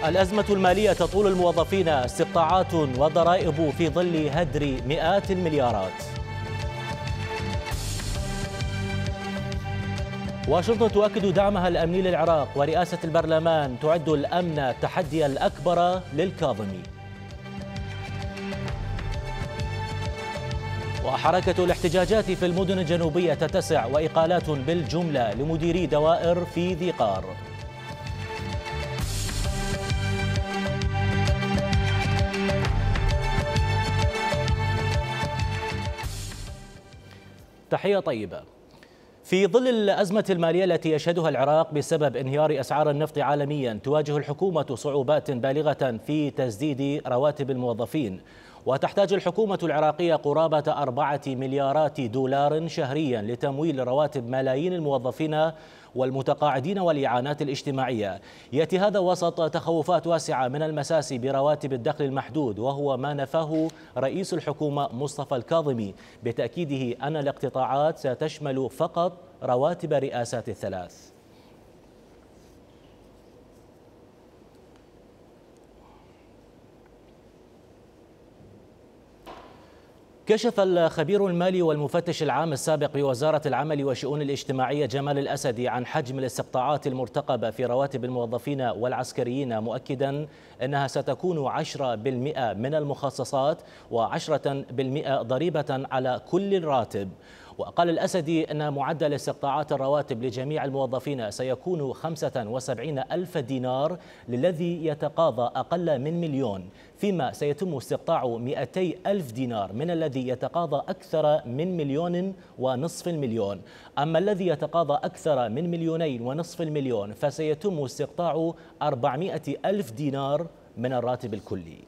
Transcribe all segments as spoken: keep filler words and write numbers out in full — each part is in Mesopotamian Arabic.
الأزمة المالية تطول الموظفين، استقطاعات وضرائب في ظل هدر مئات المليارات. واشنطن تؤكد دعمها الأمني للعراق، ورئاسة البرلمان تعد الأمن التحدي الأكبر للكاظمي. وحركة الاحتجاجات في المدن الجنوبية تتسع، وإقالات بالجملة لمديري دوائر في ذي قار. تحية طيبة. في ظل الأزمة المالية التي يشهدها العراق بسبب انهيار أسعار النفط عالميا، تواجه الحكومة صعوبات بالغة في تسديد رواتب الموظفين، وتحتاج الحكومة العراقية قرابة أربعة مليارات دولار شهريا لتمويل رواتب ملايين الموظفين والمتقاعدين والإعانات الاجتماعية. يأتي هذا وسط تخوفات واسعة من المساس برواتب الدخل المحدود، وهو ما نفاه رئيس الحكومة مصطفى الكاظمي بتأكيده أن الاقتطاعات ستشمل فقط رواتب رئاسات الثلاث. كشف الخبير المالي والمفتش العام السابق بوزارة العمل والشؤون الاجتماعية جمال الأسدي عن حجم الاستقطاعات المرتقبة في رواتب الموظفين والعسكريين، مؤكدا أنها ستكون عشرة بالمئة من المخصصات وعشرة بالمئة ضريبة على كل راتب. وقال الأسدي أن معدل استقطاعات الرواتب لجميع الموظفين سيكون خمسة وسبعين ألف دينار للذي يتقاضى أقل من مليون، فيما سيتم استقطاع مئتي ألف دينار من الذي يتقاضى أكثر من مليون ونصف المليون. أما الذي يتقاضى أكثر من مليونين ونصف المليون فسيتم استقطاع أربعمئة ألف دينار من الراتب الكلي.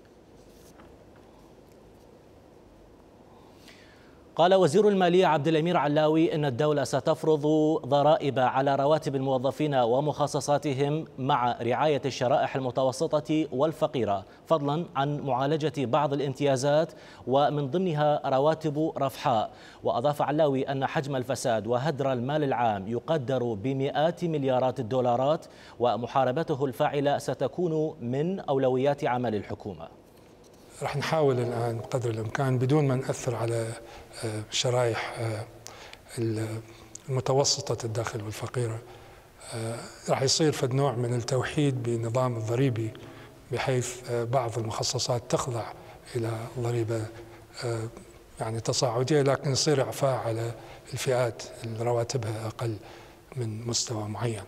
قال وزير المالية عبد الأمير علاوي إن الدولة ستفرض ضرائب على رواتب الموظفين ومخصصاتهم مع رعاية الشرائح المتوسطة والفقيرة، فضلا عن معالجة بعض الامتيازات ومن ضمنها رواتب رفحاء. وأضاف علاوي أن حجم الفساد وهدر المال العام يقدر بمئات مليارات الدولارات، ومحاربته الفاعلة ستكون من أولويات عمل الحكومة. رح نحاول الآن بقدر الإمكان بدون ما نأثر على شرائح المتوسطة الدخل والفقيرة، رح يصير فد نوع من التوحيد بالنظام الضريبي، بحيث بعض المخصصات تخضع إلى ضريبة يعني تصاعدية، لكن يصير إعفاء على الفئات اللي رواتبها أقل من مستوى معين.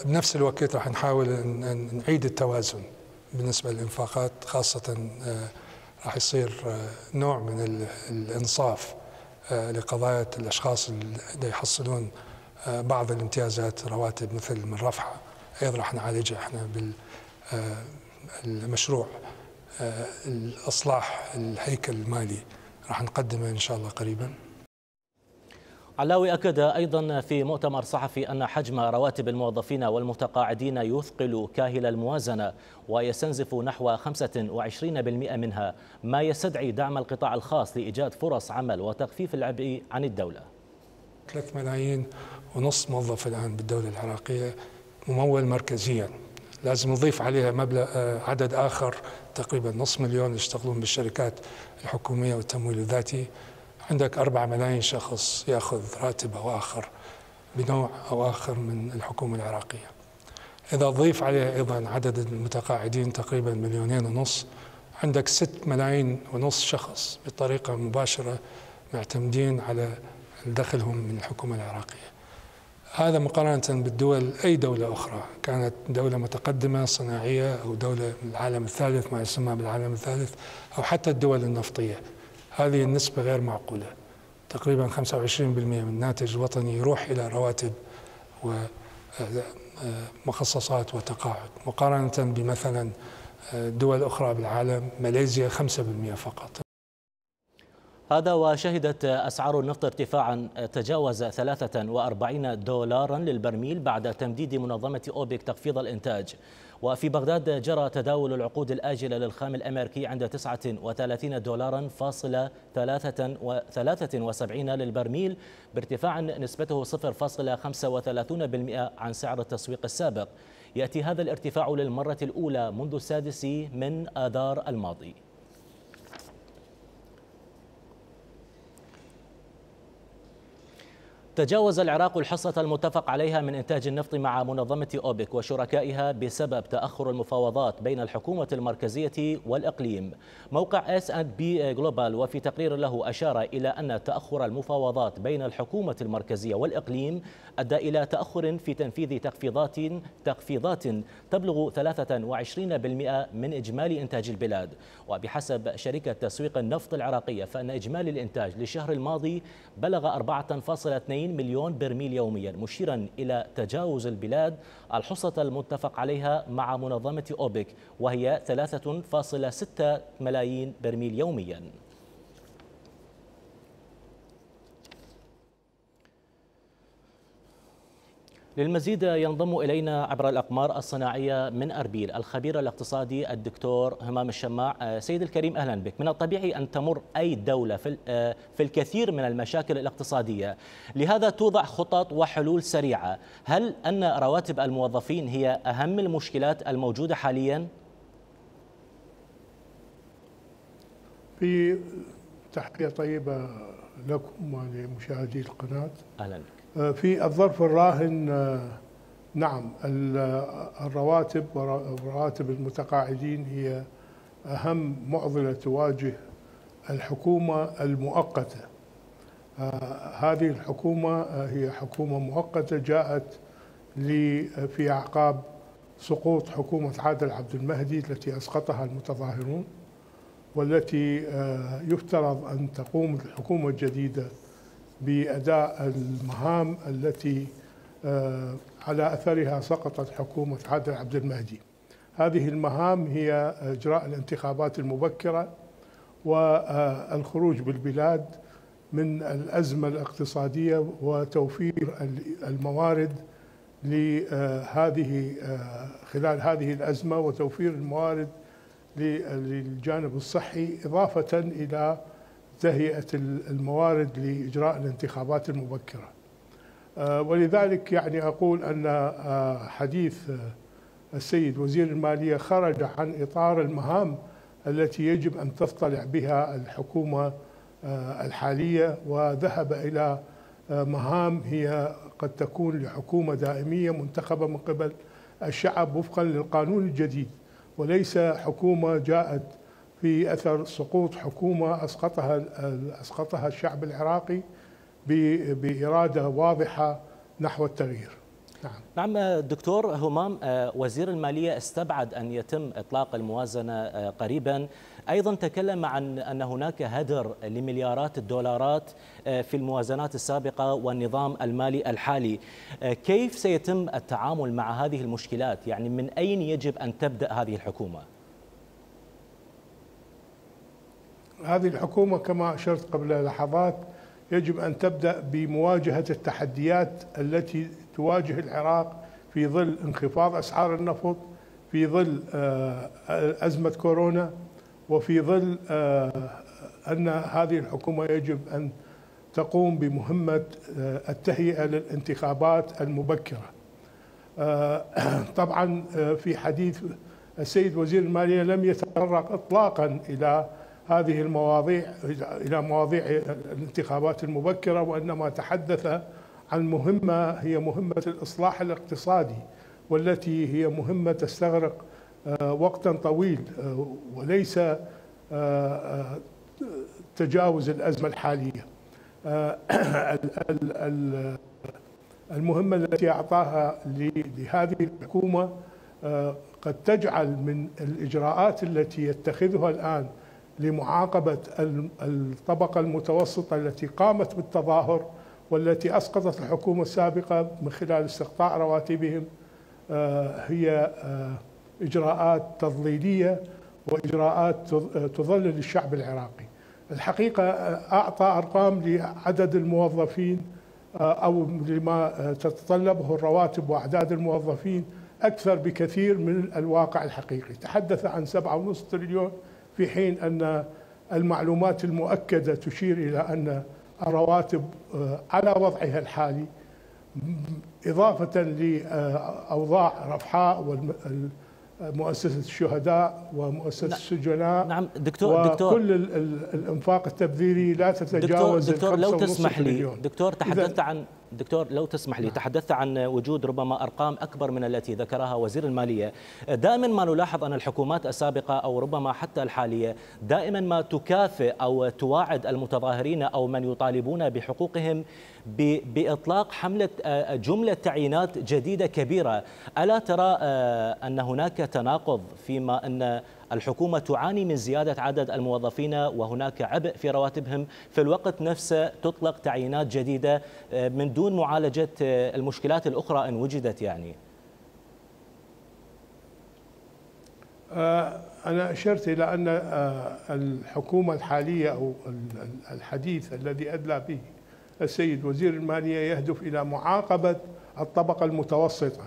بنفس الوقت رح نحاول أن نعيد التوازن بالنسبة للإنفاقات، خاصة راح يصير نوع من الإنصاف لقضايا الأشخاص اللي يحصلون بعض الامتيازات رواتب مثل من رفحة، أيضا راح نعالجها احنا بالمشروع الإصلاح الهيكل المالي، راح نقدمه إن شاء الله قريبا. علاوي أكد أيضا في مؤتمر صحفي أن حجم رواتب الموظفين والمتقاعدين يثقل كاهل الموازنة، ويستنزف نحو خمسة وعشرين بالمئة منها، ما يستدعي دعم القطاع الخاص لإيجاد فرص عمل وتخفيف العبء عن الدولة. ثلاثة ملايين ونص موظف الآن بالدولة العراقية ممول مركزيا، لازم نضيف عليها مبلغ عدد آخر تقريبا نصف مليون يشتغلون بالشركات الحكومية والتمويل الذاتي. عندك أربعة ملايين شخص يأخذ راتب أو آخر بنوع أو آخر من الحكومة العراقية. إذا ضيف عليها أيضا عدد المتقاعدين تقريبا مليونين ونص، عندك ست ملايين ونص شخص بطريقة مباشرة معتمدين على دخلهم من الحكومة العراقية. هذا مقارنة بالدول، أي دولة أخرى كانت دولة متقدمة صناعية أو دولة من العالم الثالث، ما يسمى بالعالم الثالث، أو حتى الدول النفطية، هذه النسبة غير معقولة. تقريبا خمسة وعشرين بالمئة من الناتج الوطني يروح إلى رواتب ومخصصات وتقاعد، مقارنة بمثلا دول أخرى بالعالم، ماليزيا خمسة بالمئة فقط. هذا وشهدت أسعار النفط ارتفاعا تجاوز ثلاثة وأربعين دولارا للبرميل بعد تمديد منظمة أوبك تخفيض الإنتاج. وفي بغداد جرى تداول العقود الآجلة للخام الأمريكي عند تسعة وثلاثين دولارا فاصلة ثلاثة وسبعين للبرميل، بارتفاع نسبته صفر فاصلة خمسة وثلاثين بالمئة عن سعر التسويق السابق. يأتي هذا الارتفاع للمرة الأولى منذ السادس من آذار الماضي. تجاوز العراق الحصة المتفق عليها من إنتاج النفط مع منظمة أوبك وشركائها بسبب تأخر المفاوضات بين الحكومة المركزية والإقليم. موقع إس أند بي جلوبال وفي تقرير له أشار إلى أن تأخر المفاوضات بين الحكومة المركزية والإقليم أدى إلى تأخر في تنفيذ تخفيضات تخفيضات تبلغ ثلاثة وعشرين بالمئة من إجمالي إنتاج البلاد. وبحسب شركة تسويق النفط العراقية فإن إجمالي الإنتاج للشهر الماضي بلغ أربعة فاصلة اثنين مليون برميل يوميا، مشيرا إلى تجاوز البلاد الحصة المتفق عليها مع منظمة أوبك وهي ثلاثة فاصلة ستة ملايين برميل يوميا. للمزيد ينضم إلينا عبر الأقمار الصناعية من أربيل الخبير الاقتصادي الدكتور همام الشماع. سيد الكريم أهلا بك. من الطبيعي أن تمر أي دولة في في الكثير من المشاكل الاقتصادية، لهذا توضع خطط وحلول سريعة. هل أن رواتب الموظفين هي أهم المشكلات الموجودة حاليا؟ في تحية طيبة لكم ولمشاهدي القناة. أهلا بك. في الظرف الراهن نعم الرواتب ورواتب المتقاعدين هي أهم معضلة تواجه الحكومة المؤقتة. هذه الحكومة هي حكومة مؤقتة جاءت في أعقاب سقوط حكومة عادل عبد المهدي التي أسقطها المتظاهرون، والتي يفترض أن تقوم الحكومة الجديدة بأداء المهام التي على أثرها سقطت حكومة عادل عبد المهدي. هذه المهام هي إجراء الانتخابات المبكرة والخروج بالبلاد من الأزمة الاقتصادية وتوفير الموارد لهذه خلال هذه الأزمة، وتوفير الموارد للجانب الصحي، إضافة إلى تهيئة الموارد لإجراء الانتخابات المبكرة. ولذلك يعني أقول أن حديث السيد وزير المالية خرج عن إطار المهام التي يجب أن تطلع بها الحكومة الحالية، وذهب إلى مهام هي قد تكون لحكومة دائمية منتخبة من قبل الشعب وفقا للقانون الجديد، وليس حكومة جاءت في أثر سقوط حكومة أسقطها أسقطها الشعب العراقي بإرادة واضحة نحو التغيير. نعم. نعم دكتور همام، وزير المالية استبعد أن يتم إطلاق الموازنة قريبا، أيضا تكلم عن أن هناك هدر لمليارات الدولارات في الموازنات السابقة والنظام المالي الحالي. كيف سيتم التعامل مع هذه المشكلات؟ يعني من أين يجب أن تبدأ هذه الحكومة؟ هذه الحكومة كما أشرت قبل لحظات يجب أن تبدأ بمواجهة التحديات التي تواجه العراق في ظل انخفاض أسعار النفط، في ظل أزمة كورونا، وفي ظل أن هذه الحكومة يجب أن تقوم بمهمة التهيئة للانتخابات المبكرة. طبعا في حديث السيد وزير المالية لم يتطرق إطلاقا إلى هذه المواضيع إلى مواضيع الانتخابات المبكرة، وإنما تحدث عن مهمة هي مهمة الإصلاح الاقتصادي، والتي هي مهمة تستغرق وقتا طويل وليس تجاوز الأزمة الحالية. المهمة التي أعطاها لهذه الحكومة قد تجعل من الإجراءات التي يتخذها الآن لمعاقبة الطبقة المتوسطة التي قامت بالتظاهر والتي أسقطت الحكومة السابقة من خلال استقطاع رواتبهم هي إجراءات تضليلية وإجراءات تضلل الشعب العراقي. الحقيقة أعطى أرقام لعدد الموظفين أو لما تتطلبه الرواتب وأعداد الموظفين أكثر بكثير من الواقع الحقيقي. تحدث عن سبعة ونصف تريليون في حين أن المعلومات المؤكدة تشير إلى أن الرواتب على وضعها الحالي إضافة لأوضاع رفحاء ومؤسسة الشهداء ومؤسسة السجناء. نعم دكتور دكتور وكل الإنفاق التبذيري لا تتجاوز دكتور, دكتور لو تسمح لي تريليون. دكتور تحدثت عن دكتور لو تسمح لي تحدثت عن وجود ربما أرقام أكبر من التي ذكرها وزير المالية. دائما ما نلاحظ أن الحكومات السابقة أو ربما حتى الحالية دائما ما تكافئ أو تواعد المتظاهرين أو من يطالبون بحقوقهم بإطلاق حملة جملة تعيينات جديدة كبيرة. ألا ترى أن هناك تناقض فيما أن الحكومة تعاني من زيادة عدد الموظفين وهناك عبء في رواتبهم، في الوقت نفسه تطلق تعيينات جديدة من دون معالجة المشكلات الأخرى إن وجدت؟ يعني أنا أشرت إلى أن الحكومة الحالية أو الحديث الذي أدلى به السيد وزير المالية يهدف إلى معاقبة الطبقة المتوسطة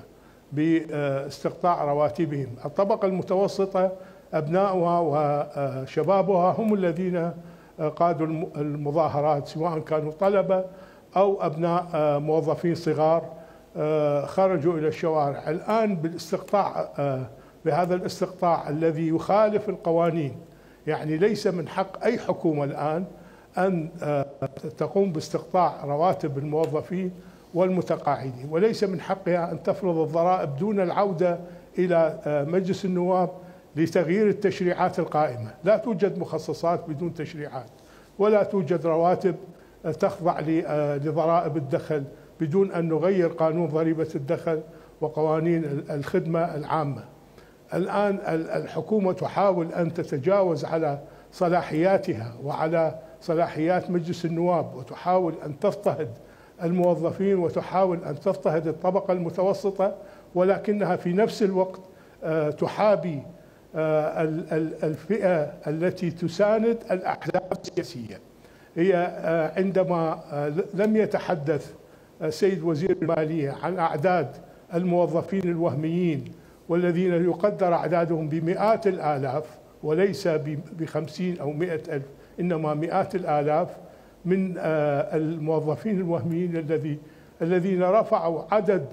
باستقطاع رواتبهم. الطبقة المتوسطة أبناؤها وشبابها هم الذين قادوا المظاهرات، سواء كانوا طلبة أو أبناء موظفين صغار خرجوا إلى الشوارع. الآن بالاستقطاع بهذا الاستقطاع الذي يخالف القوانين، يعني ليس من حق أي حكومة الآن أن تقوم باستقطاع رواتب الموظفين والمتقاعدين، وليس من حقها أن تفرض الضرائب دون العودة إلى مجلس النواب لتغيير التشريعات القائمة. لا توجد مخصصات بدون تشريعات، ولا توجد رواتب تخضع لضرائب الدخل بدون أن نغير قانون ضريبة الدخل وقوانين الخدمة العامة. الآن الحكومة تحاول أن تتجاوز على صلاحياتها وعلى صلاحيات مجلس النواب، وتحاول أن تضطهد الموظفين وتحاول أن تضطهد الطبقة المتوسطة، ولكنها في نفس الوقت تحابي الفئة التي تساند الأحزاب السياسية. هي عندما لم يتحدث السيد وزير المالية عن أعداد الموظفين الوهميين والذين يقدر أعدادهم بمئات الآلاف وليس بخمسين أو مئة ألف، إنما مئات الآلاف من الموظفين الوهميين الذي الذين رفعوا عدد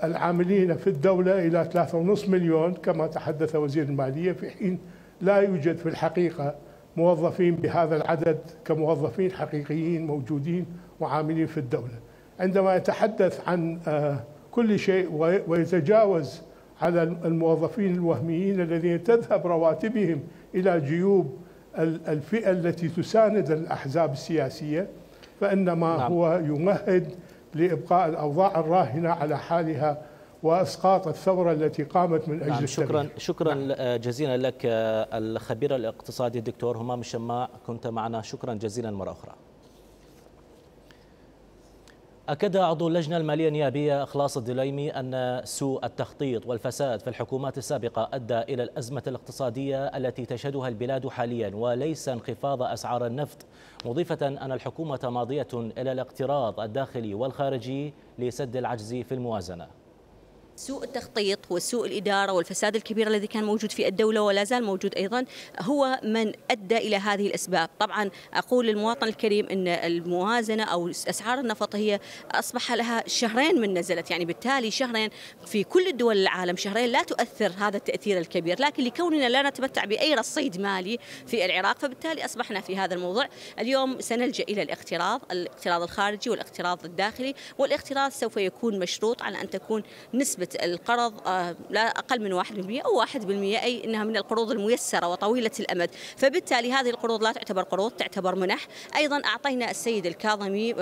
العاملين في الدولة إلى ثلاثة ونصف مليون كما تحدث وزير المالية، في حين لا يوجد في الحقيقة موظفين بهذا العدد كموظفين حقيقيين موجودين وعاملين في الدولة. عندما يتحدث عن كل شيء ويتجاوز على الموظفين الوهميين الذين تذهب رواتبهم إلى جيوب الفئة التي تساند الأحزاب السياسية، فإنما نعم. هو يمهد لإبقاء الأوضاع الراهنة على حالها وإسقاط الثورة التي قامت من أجل نعم. شكرا التغيير. شكرا نعم. جزيلا لك الخبير الاقتصادي الدكتور همام الشماع، كنت معنا، شكرا جزيلا مرة أخرى. أكد عضو اللجنة المالية النيابية إخلاص الدليمي أن سوء التخطيط والفساد في الحكومات السابقة أدى إلى الأزمة الاقتصادية التي تشهدها البلاد حاليا وليس انخفاض أسعار النفط، مضيفة أن الحكومة ماضية إلى الاقتراض الداخلي والخارجي لسد العجز في الموازنة. سوء التخطيط وسوء الإدارة والفساد الكبير الذي كان موجود في الدولة ولا زال موجود أيضا هو من أدى إلى هذه الأسباب. طبعا أقول للمواطن الكريم أن الموازنة أو أسعار النفط هي أصبح لها شهرين من نزلت، يعني بالتالي شهرين في كل الدول العالم، شهرين لا تؤثر هذا التأثير الكبير، لكن لكوننا لا نتمتع بأي رصيد مالي في العراق فبالتالي أصبحنا في هذا الموضوع. اليوم سنلجأ إلى الاقتراض، الاقتراض الخارجي والاقتراض الداخلي، والاقتراض سوف يكون مشروط على أن تكون نسبة القرض لا أقل من واحد بالمئة أو واحد بالمئة، أي أنها من القروض الميسرة وطويلة الأمد، فبالتالي هذه القروض لا تعتبر قروض، تعتبر منح. أيضا أعطينا السيد الكاظمي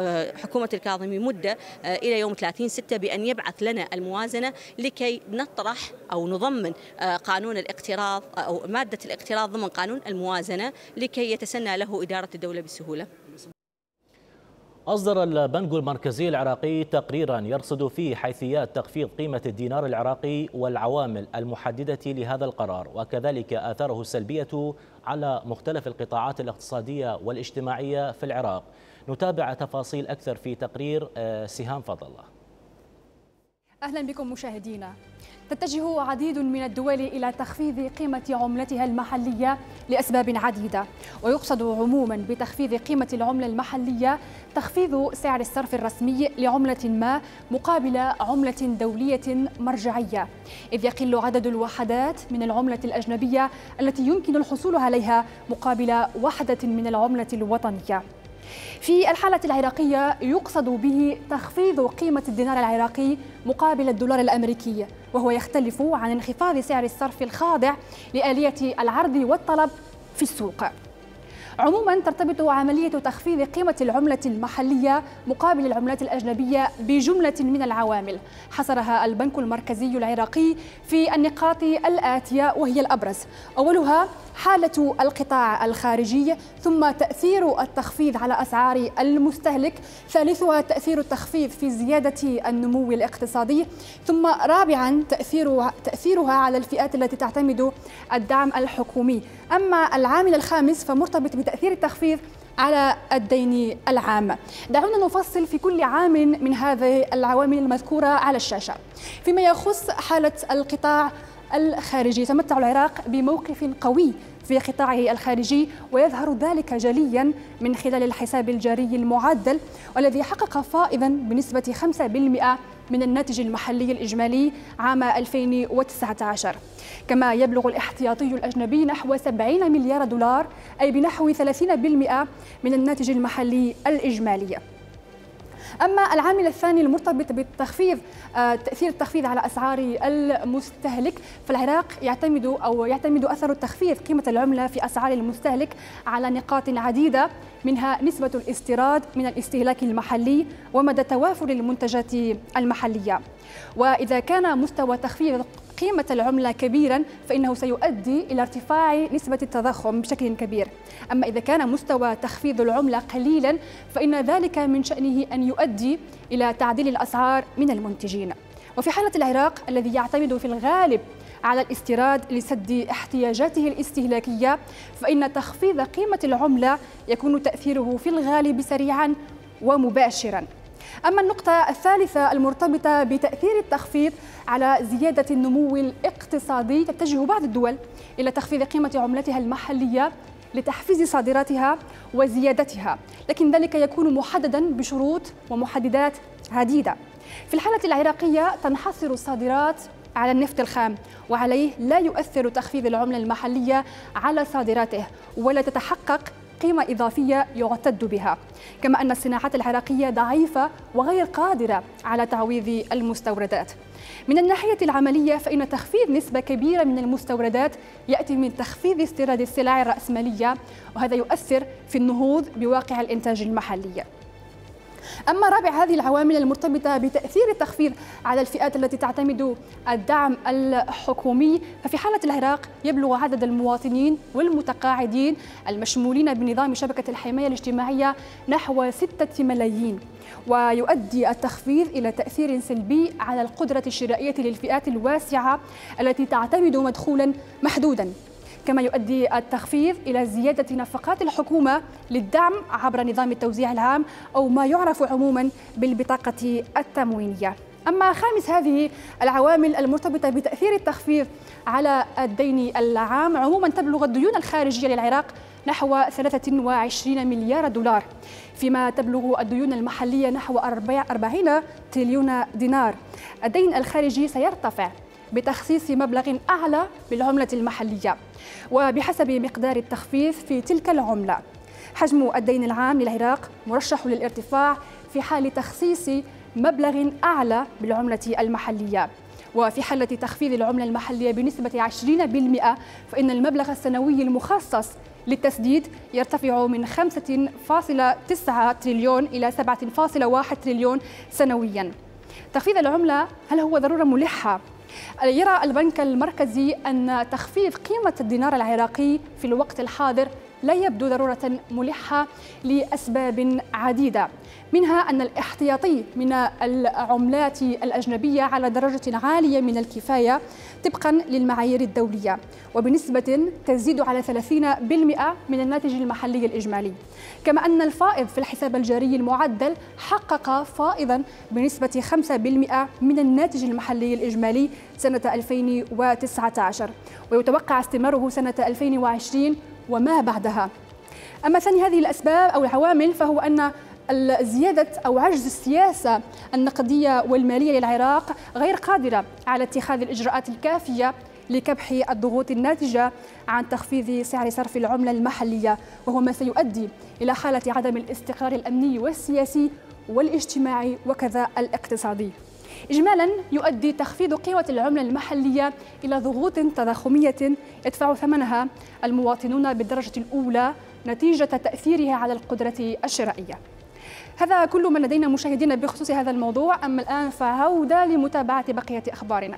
حكومة الكاظمي مدة إلى يوم ثلاثين ستة بأن يبعث لنا الموازنة لكي نطرح أو نضمن قانون الاقتراض أو مادة الاقتراض ضمن قانون الموازنة لكي يتسنى له إدارة الدولة بسهولة. أصدر البنك المركزي العراقي تقريرا يرصد فيه حيثيات تخفيض قيمة الدينار العراقي والعوامل المحددة لهذا القرار، وكذلك آثاره السلبية على مختلف القطاعات الاقتصادية والاجتماعية في العراق. نتابع تفاصيل أكثر في تقرير سهام فضل الله. أهلا بكم مشاهدينا. تتجه عديد من الدول إلى تخفيض قيمة عملتها المحلية لأسباب عديدة، ويقصد عموما بتخفيض قيمة العملة المحلية تخفيض سعر الصرف الرسمي لعملة ما مقابل عملة دولية مرجعية، إذ يقل عدد الوحدات من العملة الأجنبية التي يمكن الحصول عليها مقابل وحدة من العملة الوطنية. في الحالة العراقية يقصد به تخفيض قيمة الدينار العراقي مقابل الدولار الأمريكي، وهو يختلف عن انخفاض سعر الصرف الخاضع لآلية العرض والطلب في السوق. عموما ترتبط عملية تخفيض قيمة العملة المحلية مقابل العملات الأجنبية بجملة من العوامل حصرها البنك المركزي العراقي في النقاط الآتية وهي الأبرز: أولها حالة القطاع الخارجي، ثم تأثير التخفيض على أسعار المستهلك، ثالثها تأثير التخفيض في زيادة النمو الاقتصادي، ثم رابعا تأثير تأثيرها على الفئات التي تعتمد الدعم الحكومي. أما العامل الخامس فمرتبط بتأثير التخفيض على الدين العام. دعونا نفصل في كل عامل من هذه العوامل المذكورة على الشاشة. فيما يخص حالة القطاع الخارجي، يتمتع العراق بموقف قوي في قطاعه الخارجي، ويظهر ذلك جليا من خلال الحساب الجاري المعدل، والذي حقق فائضا بنسبة خمسة بالمئة من الناتج المحلي الإجمالي عام ألفين وتسعة عشر. كما يبلغ الاحتياطي الأجنبي نحو سبعين مليار دولار، أي بنحو ثلاثين بالمئة من الناتج المحلي الإجمالي. أما العامل الثاني المرتبط بالتخفيض، تأثير التخفيض على أسعار المستهلك، فالعراق يعتمد أو يعتمد أثر التخفيض قيمة العملة في أسعار المستهلك على نقاط عديدة، منها نسبة الاستيراد من الاستهلاك المحلي ومدى توافر المنتجات المحلية. وإذا كان مستوى تخفيض قيمة العملة كبيرا فإنه سيؤدي إلى ارتفاع نسبة التضخم بشكل كبير. أما إذا كان مستوى تخفيض العملة قليلا فإن ذلك من شأنه أن يؤدي إلى تعديل الأسعار من المنتجين. وفي حالة العراق الذي يعتمد في الغالب على الاستيراد لسد احتياجاته الاستهلاكية، فإن تخفيض قيمة العملة يكون تأثيره في الغالب سريعا ومباشرا. أما النقطة الثالثة المرتبطة بتأثير التخفيض على زيادة النمو الاقتصادي، تتجه بعض الدول إلى تخفيض قيمة عملتها المحلية لتحفيز صادراتها وزيادتها، لكن ذلك يكون محددا بشروط ومحددات عديدة. في الحالة العراقية تنحصر الصادرات على النفط الخام، وعليه لا يؤثر تخفيض العملة المحلية على صادراته ولا تتحقق قيمة إضافية يعتد بها، كما أن الصناعات العراقية ضعيفة وغير قادرة على تعويض المستوردات. من الناحية العملية فإن تخفيض نسبة كبيرة من المستوردات يأتي من تخفيض استيراد السلع الرأسمالية، وهذا يؤثر في النهوض بواقع الإنتاج المحلي. أما رابع هذه العوامل المرتبطة بتأثير التخفيض على الفئات التي تعتمد الدعم الحكومي، ففي حالة العراق يبلغ عدد المواطنين والمتقاعدين المشمولين بنظام شبكة الحماية الاجتماعية نحو ستة ملايين، ويؤدي التخفيض إلى تأثير سلبي على القدرة الشرائية للفئات الواسعة التي تعتمد مدخولا محدودا. كما يؤدي التخفيض إلى زيادة نفقات الحكومة للدعم عبر نظام التوزيع العام أو ما يعرف عموما بالبطاقة التموينية. أما خامس هذه العوامل المرتبطة بتأثير التخفيض على الدين العام، عموما تبلغ الديون الخارجية للعراق نحو ثلاثة وعشرين مليار دولار، فيما تبلغ الديون المحلية نحو أربعين تريليون دينار. الدين الخارجي سيرتفع بتخصيص مبلغ أعلى بالعملة المحلية وبحسب مقدار التخفيض في تلك العملة. حجم الدين العام للعراق مرشح للارتفاع في حال تخصيص مبلغ أعلى بالعملة المحلية، وفي حالة تخفيض العملة المحلية بنسبة عشرين بالمئة فإن المبلغ السنوي المخصص للتسديد يرتفع من خمسة فاصلة تسعة تريليون إلى سبعة فاصلة واحد تريليون سنويا. تخفيض العملة هل هو ضرورة ملحة؟ يرى البنك المركزي أن تخفيض قيمة الدينار العراقي في الوقت الحاضر لا يبدو ضرورة ملحة لأسباب عديدة، منها أن الاحتياطي من العملات الأجنبية على درجة عالية من الكفاية طبقا للمعايير الدولية وبنسبة تزيد على ثلاثين بالمئة من الناتج المحلي الإجمالي، كما أن الفائض في الحساب الجاري المعدل حقق فائضا بنسبة خمسة بالمئة من الناتج المحلي الإجمالي سنة ألفين وتسعة عشر، ويتوقع استمراره سنة ألفين وعشرين وما بعدها. أما ثاني هذه الأسباب أو العوامل فهو أن زيادة أو عجز السياسة النقدية والمالية للعراق غير قادرة على اتخاذ الإجراءات الكافية لكبح الضغوط الناتجة عن تخفيض سعر صرف العملة المحلية، وهو ما سيؤدي إلى حالة عدم الاستقرار الأمني والسياسي والاجتماعي وكذا الاقتصادي. إجمالاً يؤدي تخفيض قيمة العملة المحلية إلى ضغوط تضخمية يدفع ثمنها المواطنون بالدرجة الأولى نتيجة تأثيرها على القدرة الشرائية. هذا كل ما لدينا مشاهدينا بخصوص هذا الموضوع، أما الآن فعودة لمتابعة بقية أخبارنا.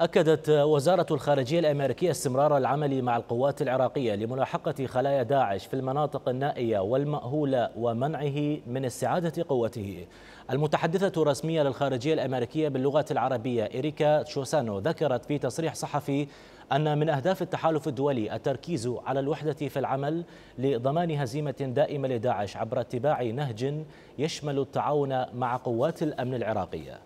أكدت وزارة الخارجية الأمريكية استمرار العمل مع القوات العراقية لملاحقة خلايا داعش في المناطق النائية والمأهولة ومنعه من استعادة قوته. المتحدثة الرسمية للخارجية الأمريكية باللغة العربية إريكا تشوسانو ذكرت في تصريح صحفي أن من أهداف التحالف الدولي التركيز على الوحدة في العمل لضمان هزيمة دائمة لداعش عبر اتباع نهج يشمل التعاون مع قوات الأمن العراقية.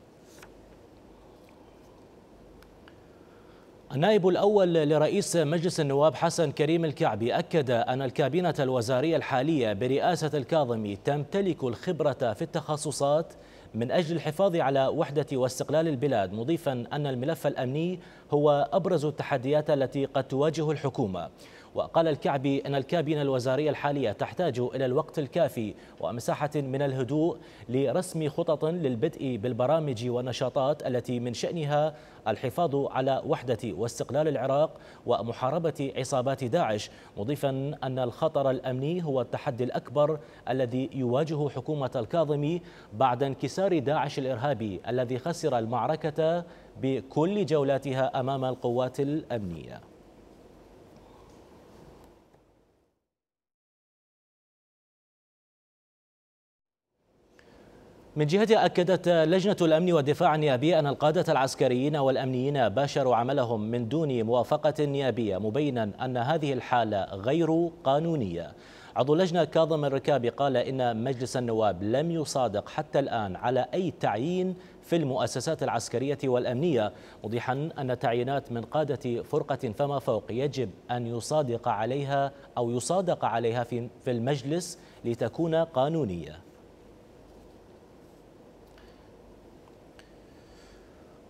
النائب الأول لرئيس مجلس النواب حسن كريم الكعبي أكد أن الكابينة الوزارية الحالية برئاسة الكاظمي تمتلك الخبرة في التخصصات من أجل الحفاظ على وحدة واستقلال البلاد، مضيفا أن الملف الأمني هو أبرز التحديات التي قد تواجه الحكومة. وقال الكعبي أن الكابينة الوزارية الحالية تحتاج إلى الوقت الكافي ومساحة من الهدوء لرسم خطط للبدء بالبرامج والنشاطات التي من شأنها الحفاظ على وحدة واستقلال العراق ومحاربة عصابات داعش، مضيفا أن الخطر الأمني هو التحدي الأكبر الذي يواجه حكومة الكاظمي بعد انكسار داعش الإرهابي الذي خسر المعركة بكل جولاتها أمام القوات الأمنية. من جهتها أكدت لجنة الأمن والدفاع النيابية أن القادة العسكريين والأمنيين باشروا عملهم من دون موافقة نيابية، مبينا أن هذه الحالة غير قانونية. عضو اللجنة كاظم الركابي قال إن مجلس النواب لم يصادق حتى الآن على أي تعيين في المؤسسات العسكرية والأمنية، موضحا أن تعيينات من قادة فرقة فما فوق يجب أن يصادق عليها أو يصادق عليها في المجلس لتكون قانونية.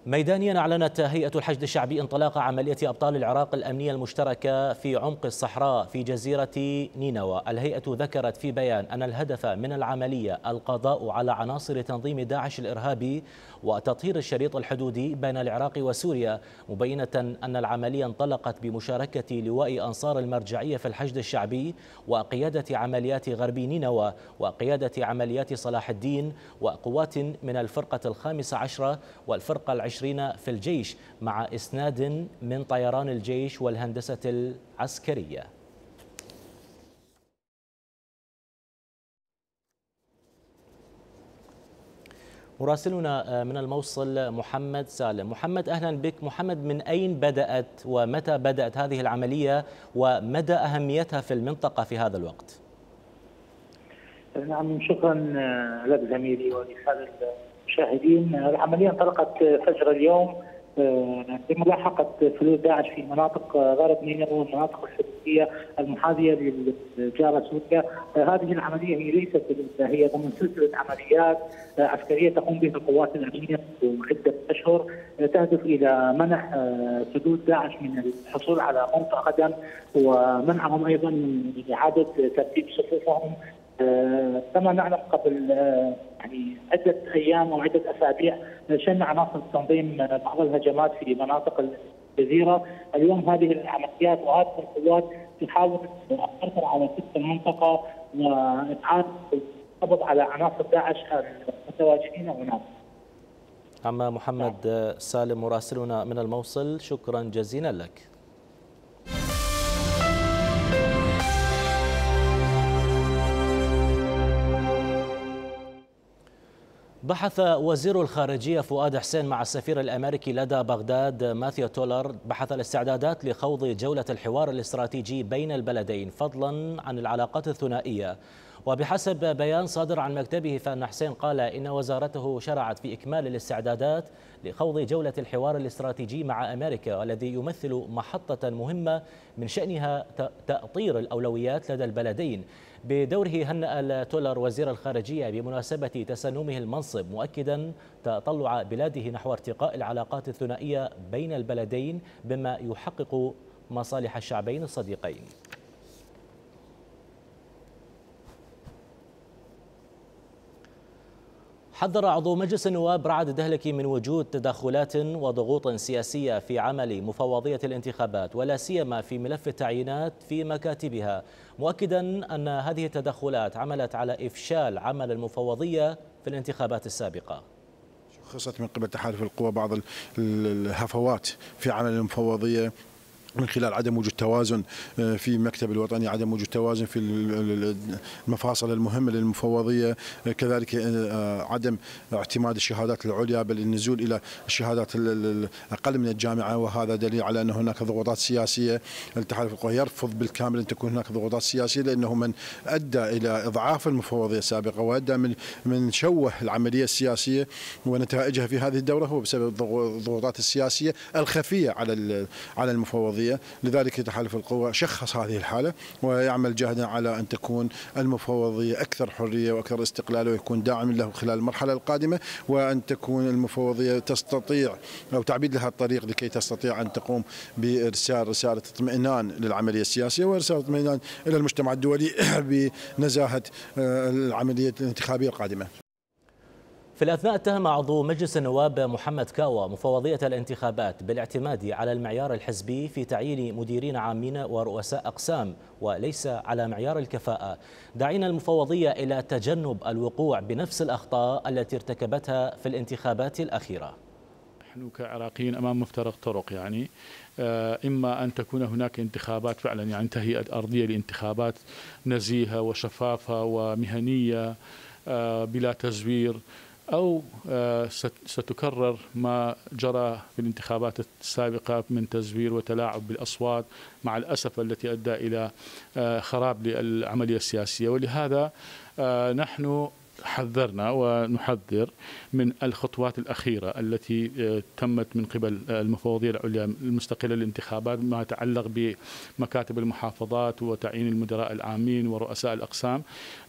ميدانيا أعلنت هيئة الحشد الشعبي انطلاق عملية أبطال العراق الأمنية المشتركة في عمق الصحراء في جزيرة نينوى. الهيئة ذكرت في بيان أن الهدف من العملية القضاء على عناصر تنظيم داعش الإرهابي وتطهير الشريط الحدودي بين العراق وسوريا، مبينة أن العملية انطلقت بمشاركة لواء أنصار المرجعية في الحشد الشعبي وقيادة عمليات غربي نينوى وقيادة عمليات صلاح الدين وقوات من الفرقة الخامسة عشرة والفرقة العشرين في الجيش، مع إسناد من طيران الجيش والهندسة العسكرية. مراسلنا من الموصل محمد سالم. محمد أهلا بك. محمد، من أين بدأت ومتى بدأت هذه العملية ومدى أهميتها في المنطقة في هذا الوقت؟ نعم، شكرا لك زميلي ولسادة المشاهدين. العملية انطلقت فجر اليوم بملاحقة فلول داعش في مناطق غرب نينوى والمناطق الحدودية المحاذية للجارة سوريا. هذه العملية هي ليست هي ضمن سلسلة عمليات عسكرية تقوم بها القوات الأمنية عدة أشهر تهدف إلى منح سدود داعش من الحصول على موطئ قدم ومنعهم أيضا من إعادة ترتيب صفوفهم. كما نعلم قبل يعني عدة أيام أو عدة أسابيع شن عناصر التنظيم بعض الهجمات في مناطق الجزيرة. اليوم هذه العمليات وهذه القوات تحاول السيطرة على تلك المنطقة وإبعاد القبض على عناصر داعش المتواجدين هناك. عم محمد سالم مراسلنا من الموصل، شكرا جزيلا لك. بحث وزير الخارجية فؤاد حسين مع السفير الأمريكي لدى بغداد ماثيو تولر بحث الاستعدادات لخوض جولة الحوار الاستراتيجي بين البلدين فضلا عن العلاقات الثنائية. وبحسب بيان صادر عن مكتبه فإن حسين قال إن وزارته شرعت في إكمال الاستعدادات لخوض جولة الحوار الاستراتيجي مع أمريكا، والذي يمثل محطة مهمة من شأنها تأطير الأولويات لدى البلدين. بدوره هنأ تولر وزير الخارجية بمناسبة تسنمه المنصب، مؤكدا تطلع بلاده نحو ارتقاء العلاقات الثنائية بين البلدين بما يحقق مصالح الشعبين الصديقين. حذر عضو مجلس النواب رعد دهلكي من وجود تدخلات وضغوط سياسية في عمل مفوضية الانتخابات، ولا سيما في ملف التعيينات في مكاتبها، مؤكدا أن هذه التدخلات عملت على إفشال عمل المفوضية في الانتخابات السابقة. شخصت من قبل تحالف القوى بعض الهفوات في عمل المفوضية من خلال عدم وجود توازن في المكتب الوطني، عدم وجود توازن في المفاصل المهمة للمفوضية، كذلك عدم اعتماد الشهادات العليا بل النزول إلى الشهادات الأقل من الجامعة، وهذا دليل على أن هناك ضغوطات سياسية. التحالف القوى يرفض بالكامل أن تكون هناك ضغوطات سياسية، لأنه من أدى إلى إضعاف المفوضية السابقة وأدى من من شوه العملية السياسية ونتائجها في هذه الدورة هو بسبب الضغوطات السياسية الخفية على على المفوضية. لذلك تحالف القوى شخص هذه الحالة ويعمل جهدا على أن تكون المفوضية أكثر حرية وأكثر استقلال، ويكون داعم له خلال المرحلة القادمة، وأن تكون المفوضية تستطيع أو تعبيد لها الطريق لكي تستطيع أن تقوم بإرسال رسالة اطمئنان للعملية السياسية ورسالة اطمئنان إلى المجتمع الدولي بنزاهة العملية الانتخابية القادمة. في الأثناء اتهم عضو مجلس النواب محمد كاوى مفوضية الانتخابات بالاعتماد على المعيار الحزبي في تعيين مديرين عامين ورؤساء أقسام وليس على معيار الكفاءة، داعين المفوضية إلى تجنب الوقوع بنفس الأخطاء التي ارتكبتها في الانتخابات الأخيرة. نحن كعراقيين أمام مفترق طرق، يعني إما أن تكون هناك انتخابات فعلا يعني تهيئة أرضية لانتخابات نزيهة وشفافة ومهنية بلا تزوير، أو ستكرر ما جرى في الانتخابات السابقة من تزوير وتلاعب بالأصوات مع الأسف التي أدى إلى خراب للعملية السياسية. ولهذا نحن حذرنا ونحذر من الخطوات الأخيرة التي تمت من قبل المفوضية العليا المستقلة للانتخابات ما يتعلق بمكاتب المحافظات وتعيين المدراء العامين ورؤساء الأقسام،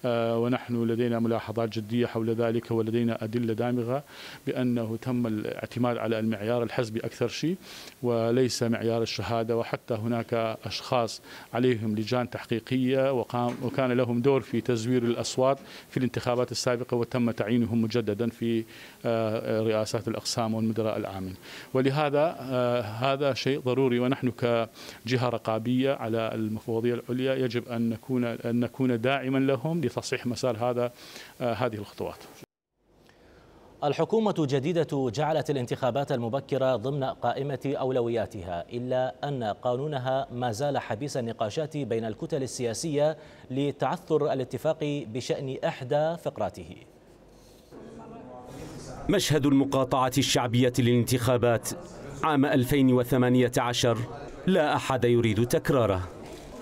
ونحن لدينا ملاحظات جدية حول ذلك ولدينا أدلة دامغة بأنه تم الاعتماد على المعيار الحزبي أكثر شيء وليس معيار الشهادة، وحتى هناك أشخاص عليهم لجان تحقيقية وكان لهم دور في تزوير الأصوات في الانتخابات السابقة وتم تعيينهم مجددا في رئاسات الأقسام والمدراء العامين. ولهذا هذا شيء ضروري، ونحن كجهة رقابية على المفوضية العليا يجب أن نكون أن نكون داعما لهم لتصحيح مسار هذا هذه الخطوات. الحكومة الجديدة جعلت الانتخابات المبكرة ضمن قائمة أولوياتها، إلا أن قانونها ما زال حبيس النقاشات بين الكتل السياسية لتعثر الاتفاق بشأن إحدى فقراته. مشهد المقاطعة الشعبية للانتخابات عام ألفين وثمانية عشر لا أحد يريد تكراره،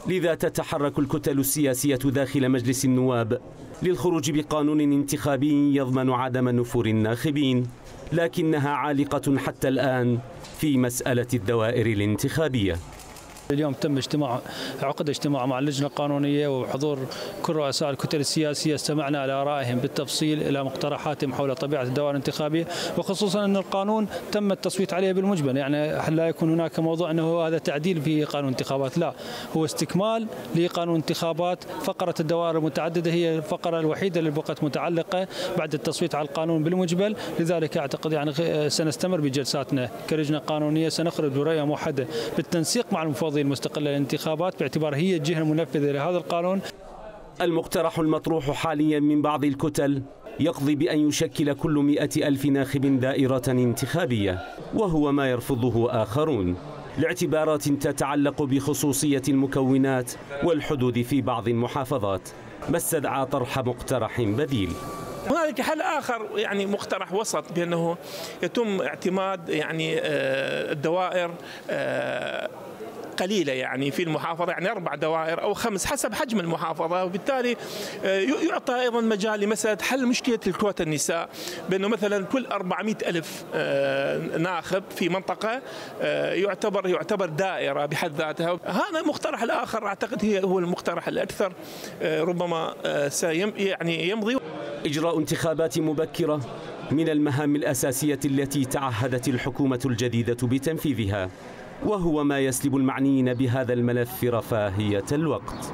لذا تتحرك الكتل السياسية داخل مجلس النواب للخروج بقانون انتخابي يضمن عدم نفور الناخبين، لكنها عالقة حتى الآن في مسألة الدوائر الانتخابية. اليوم تم اجتماع عقد اجتماع مع اللجنة القانونية وبحضور كل رؤساء الكتل السياسية، استمعنا إلى آرائهم بالتفصيل إلى مقترحاتهم حول طبيعة الدوائر الانتخابية، وخصوصا أن القانون تم التصويت عليه بالمجمل، يعني لا يكون هناك موضوع أنه هذا تعديل في قانون انتخابات، لا، هو استكمال لقانون انتخابات. فقرة الدوائر المتعددة هي الفقرة الوحيدة اللي بقت متعلقة بعد التصويت على القانون بالمجمل، لذلك أعتقد يعني سنستمر بجلساتنا كلجنة قانونية، سنخرج برؤية موحدة بالتنسيق مع المفوضية المستقلة للانتخابات باعتبار هي الجهة المنفذة لهذا القانون. المقترح المطروح حاليا من بعض الكتل يقضي بأن يشكل كل مئة ألف ناخب دائرة انتخابية، وهو ما يرفضه آخرون لاعتبارات تتعلق بخصوصية المكونات والحدود في بعض المحافظات، ما استدعى طرح مقترح بديل. هنالك حل آخر يعني مقترح وسط بأنه يتم اعتماد يعني الدوائر قليلة يعني في المحافظة، يعني أربع دوائر أو خمس حسب حجم المحافظة، وبالتالي يعطى أيضا مجال لمسألة حل مشكلة الكوتا النساء، بأنه مثلا كل أربعمئة ألف ناخب في منطقة يعتبر يعتبر دائرة بحد ذاتها. هذا المقترح الآخر أعتقد هي هو المقترح الأكثر ربما سيم يعني يمضي. إجراء انتخابات مبكرة من المهام الأساسية التي تعهدت الحكومة الجديدة بتنفيذها، وهو ما يسلب المعنيين بهذا الملف رفاهية الوقت.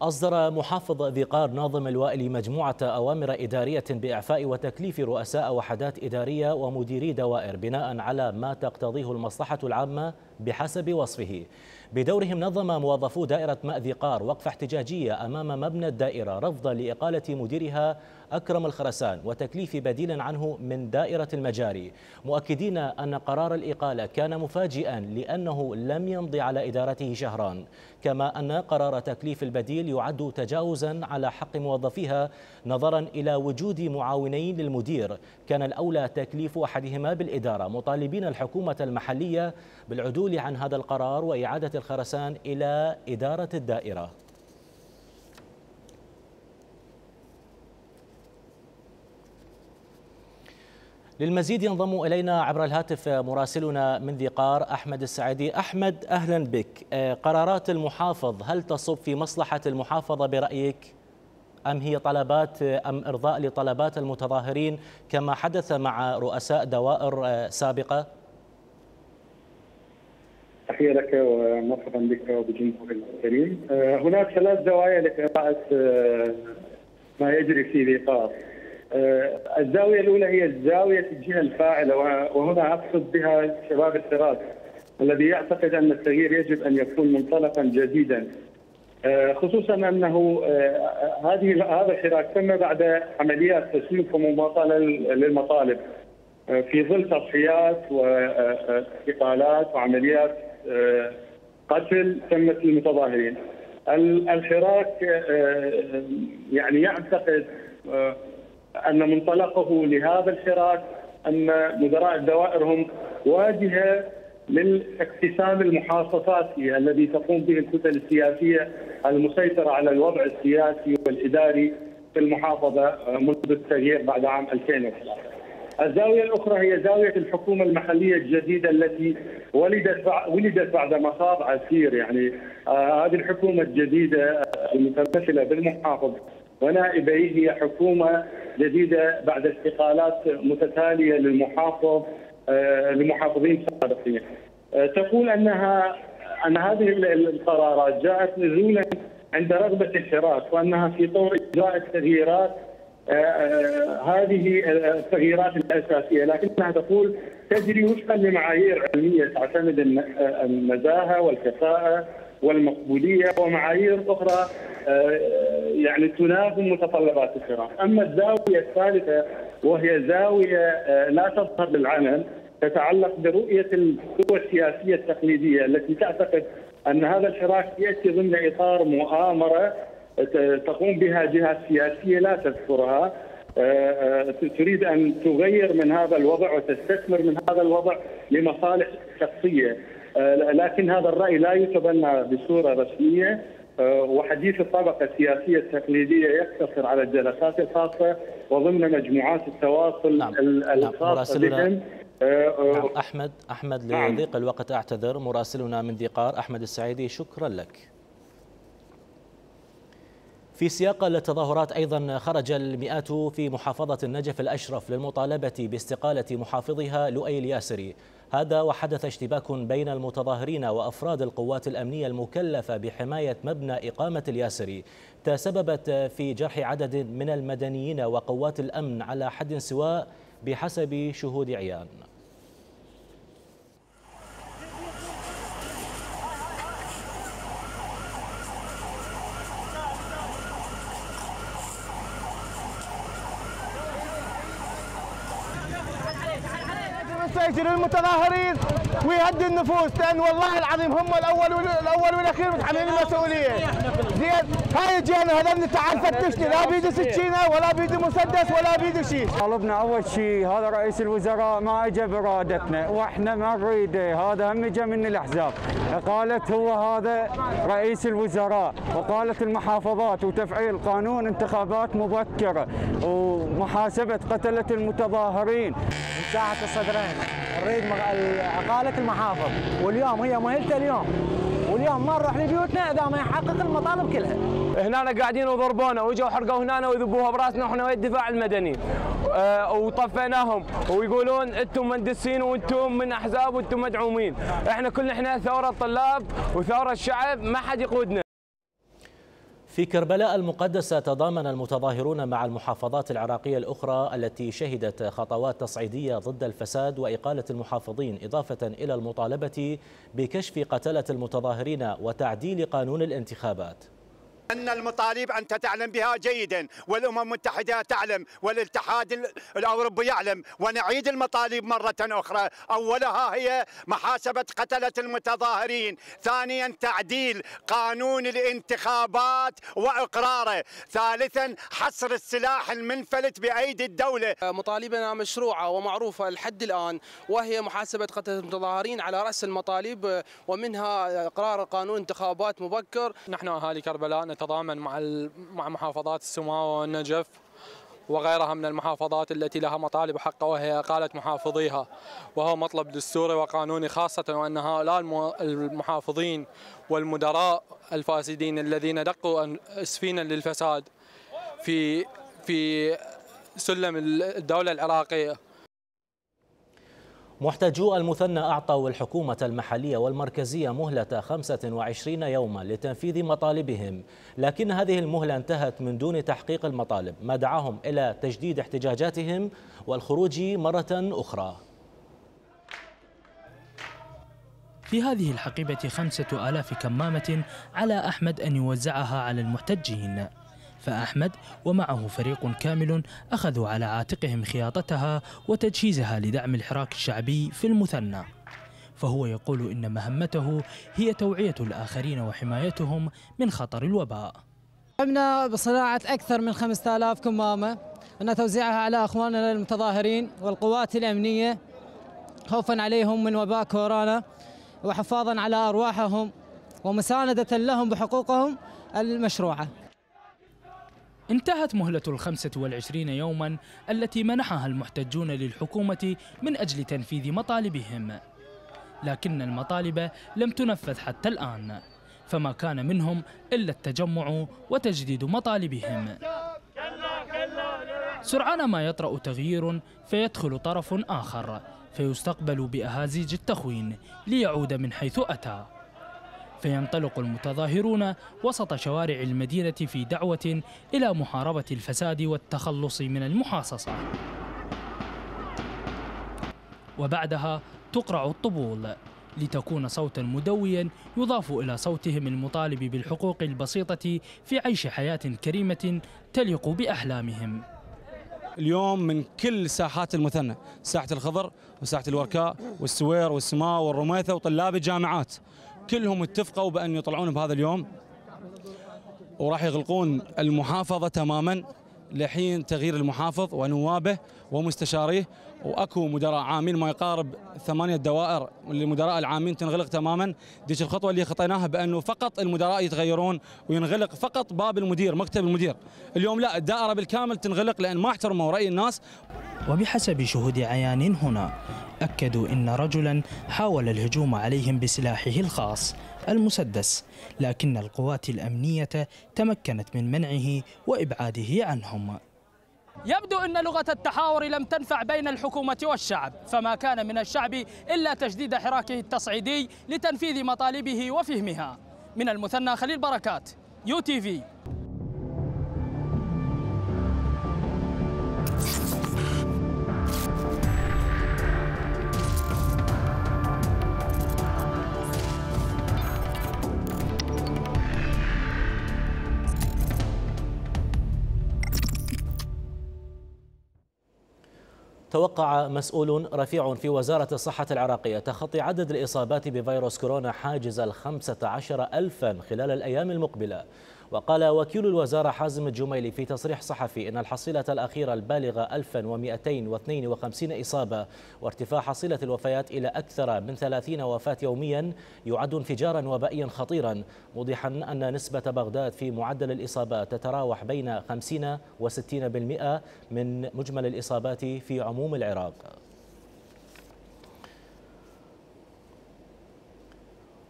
أصدر محافظ ذي قار ناظم الوائلي مجموعة أوامر إدارية بإعفاء وتكليف رؤساء وحدات إدارية ومديري دوائر بناء على ما تقتضيه المصلحة العامة بحسب وصفه. بدورهم نظم موظفو دائرة ماء ذي قار وقفة احتجاجية أمام مبنى الدائرة رفضا لإقالة مديرها أكرم الخرسان وتكليف بديل عنه من دائرة المجاري، مؤكدين أن قرار الإقالة كان مفاجئا لأنه لم يمضي على إدارته شهران، كما أن قرار تكليف البديل يعد تجاوزا على حق موظفيها نظرا إلى وجود معاونين للمدير كان الأولى تكليف أحدهما بالإدارة، مطالبين الحكومة المحلية بالعدول عن هذا القرار وإعادة الخرسان إلى إدارة الدائرة. للمزيد ينضم إلينا عبر الهاتف مراسلنا من ذي قار أحمد السعيدي. أحمد أهلا بك. قرارات المحافظ هل تصب في مصلحة المحافظة برأيك أم هي طلبات أم إرضاء لطلبات المتظاهرين كما حدث مع رؤساء دوائر سابقة؟ تحية لك ومرحبا بك وبجمهورك الكريم. هناك ثلاث زوايا لقراءة ما يجري في ذي قار. الزاوية الأولى هي زاوية الجهة الفاعلة، وهنا أقصد بها شباب التراث الذي يعتقد أن التغيير يجب أن يكون منطلقا جديدا، خصوصا أنه هذه هذا الحراك تم بعد عمليات تسويف ومماطلة للمطالب في ظل تضحيات واستقالات وعمليات قتل تمت للمتظاهرين. الحراك يعني يعتقد أن منطلقه لهذا الحراك أن مدراء الدوائر هم واجهة للاقتسام المحافظاتي الذي تقوم به الكتل السياسية المسيطرة على الوضع السياسي والإداري في المحافظة منذ التغيير بعد عام ألفين وثلاثة. الزاوية الأخرى هي زاوية الحكومة المحلية الجديدة التي ولدت ولدت بعد مخاض عسير، يعني آه هذه الحكومة الجديدة المتمثلة بالمحافظ ونائبيه هي حكومة جديدة بعد استقالات متتالية للمحافظ آه لمحافظين سابقين. آه تقول أنها أن هذه القرارات جاءت نزولا عند رغبة الحراك، وأنها في طور إجراء التغييرات آه آه هذه التغييرات الأساسية، لكنها تقول تجري وفقا لمعايير علمية تعتمد النزاهة والكفاءة والمقبولية ومعايير أخرى آه يعني تناغم متطلبات الحراك. أما الزاوية الثالثة وهي زاوية آه لا تظهر للعلن تتعلق برؤية القوى السياسية التقليدية التي تعتقد أن هذا الحراك يأتي ضمن إطار مؤامرة تقوم بها جهات سياسية لا تذكرها، تريد أن تغير من هذا الوضع وتستثمر من هذا الوضع لمصالح شخصية، لكن هذا الرأي لا يتبنى بصورة رسمية، وحديث الطبقة السياسية التقليدية يقتصر على الجلسات الخاصة وضمن مجموعات التواصل نعم. الخاصة بهم. نعم أحمد أحمد لضيق الوقت أعتذر. مراسلنا من ذي قار أحمد السعيدي شكرا لك. في سياق التظاهرات أيضا خرج المئات في محافظة النجف الأشرف للمطالبة باستقالة محافظها لؤي الياسري، هذا وحدث اشتباك بين المتظاهرين وأفراد القوات الأمنية المكلفة بحماية مبنى إقامة الياسري تسببت في جرح عدد من المدنيين وقوات الأمن على حد سواء بحسب شهود عيان. يسجل المتظاهرين ويهدي النفوس، لان والله العظيم هم الاول والاول والاخير متحملين المسؤوليه. زين هاي جينا هذا تعال فتشني، لا بيدي سكينه ولا بيدي مسدس ولا بيدي شيء. طالبنا اول شيء هذا رئيس الوزراء ما اجى برادتنا واحنا ما نريده، هذا هم اجى من الاحزاب. قالت هو هذا رئيس الوزراء، وقالت المحافظات وتفعيل قانون انتخابات مبكره ومحاسبه قتله المتظاهرين. من ساحه الصدرين نريد عقاله المحافظ، واليوم هي مهلته اليوم، واليوم ما نروح لبيوتنا اذا ما يحقق المطالب كلها. هنا قاعدين وضربونا واجوا حرقوا هنا ويذبوها براسنا واحنا ويا الدفاع المدني، أه وطفيناهم ويقولون انتم مندسين وانتم من احزاب وانتم مدعومين، احنا كلنا احنا ثوره طلاب وثوره الشعب، ما حد يقودنا. في كربلاء المقدسة تضامن المتظاهرون مع المحافظات العراقية الأخرى التي شهدت خطوات تصعيدية ضد الفساد وإقالة المحافظين، إضافة إلى المطالبة بكشف قتلة المتظاهرين وتعديل قانون الانتخابات. أن المطالب أنت تعلم بها جيدا، والأمم المتحدة تعلم، والاتحاد الأوروبي يعلم، ونعيد المطالب مرة أخرى. أولها هي محاسبة قتلة المتظاهرين، ثانيا تعديل قانون الانتخابات وإقراره، ثالثا حصر السلاح المنفلت بأيدي الدولة. مطالبنا مشروعة ومعروفة لحد الآن، وهي محاسبة قتلة المتظاهرين على رأس المطالب، ومنها إقرار قانون انتخابات مبكر. نحن أهالي كربلاء نتضامن مع مع محافظات السماوة والنجف وغيرها من المحافظات التي لها مطالب حقه، وهي إقالة محافظيها، وهو مطلب دستوري وقانوني، خاصة وأن هؤلاء المحافظين والمدراء الفاسدين الذين دقوا أسفينا للفساد في في سلم الدولة العراقية. محتجو المثنى أعطوا الحكومة المحلية والمركزية مهلة خمسة وعشرين يوما لتنفيذ مطالبهم، لكن هذه المهلة انتهت من دون تحقيق المطالب، ما دعاهم إلى تجديد احتجاجاتهم والخروج مرة أخرى. في هذه الحقيبة خمسة آلاف كمامة على أحمد أن يوزعها على المحتجين، فأحمد ومعه فريق كامل أخذوا على عاتقهم خياطتها وتجهيزها لدعم الحراك الشعبي في المثنى، فهو يقول إن مهمته هي توعية الآخرين وحمايتهم من خطر الوباء. قمنا بصناعة أكثر من خمسة آلاف كمامة أن توزيعها على أخواننا المتظاهرين والقوات الأمنية خوفا عليهم من وباء كورونا وحفاظا على أرواحهم ومساندة لهم بحقوقهم المشروعة. انتهت مهلة الخمسة والعشرين يوما التي منحها المحتجون للحكومة من أجل تنفيذ مطالبهم، لكن المطالب لم تنفذ حتى الآن، فما كان منهم إلا التجمع وتجديد مطالبهم. سرعان ما يطرأ تغيير فيدخل طرف آخر فيستقبل بأهازيج التخوين ليعود من حيث أتى، فينطلق المتظاهرون وسط شوارع المدينة في دعوة إلى محاربة الفساد والتخلص من المحاصصة، وبعدها تقرع الطبول لتكون صوتا مدويا يضاف إلى صوتهم المطالب بالحقوق البسيطة في عيش حياة كريمة تليق بأحلامهم. اليوم من كل ساحات المثنى، ساحة الخضر وساحة الوركاء والسوير والسماء والرميثة وطلاب الجامعات، كلهم اتفقوا بأن يطلعون بهذا اليوم وراح يغلقون المحافظة تماما لحين تغيير المحافظ ونوابه ومستشاريه، واكو مدراء عامين ما يقارب ثمانية دوائر للمدراء العامين تنغلق تماما. ديش الخطوة اللي خطيناها بأنه فقط المدراء يتغيرون وينغلق فقط باب المدير مكتب المدير. اليوم لا، الدائرة بالكامل تنغلق لأن ما احترموا رأي الناس. وبحسب شهود عيان هنا أكدوا إن رجلا حاول الهجوم عليهم بسلاحه الخاص المسدس، لكن القوات الأمنية تمكنت من منعه وإبعاده عنهم. يبدو أن لغة التحاور لم تنفع بين الحكومة والشعب، فما كان من الشعب إلا تجديد حراكه التصعيدي لتنفيذ مطالبه وفهمها. من المثنى خليل بركات، يو تي في. توقع مسؤول رفيع في وزارة الصحة العراقية تخطي عدد الإصابات بفيروس كورونا حاجز الخمسة عشر ألفا خلال الأيام المقبلة. وقال وكيل الوزارة حازم الجميلي في تصريح صحفي إن الحصيلة الأخيرة البالغة ألف ومئتين واثنين وخمسين إصابة وارتفاع حصيلة الوفيات إلى أكثر من ثلاثين وفاة يوميا يعد انفجارا وبائيا خطيرا، موضحا أن نسبة بغداد في معدل الإصابات تتراوح بين خمسين وستين بالمئة من مجمل الإصابات في عموم العراق.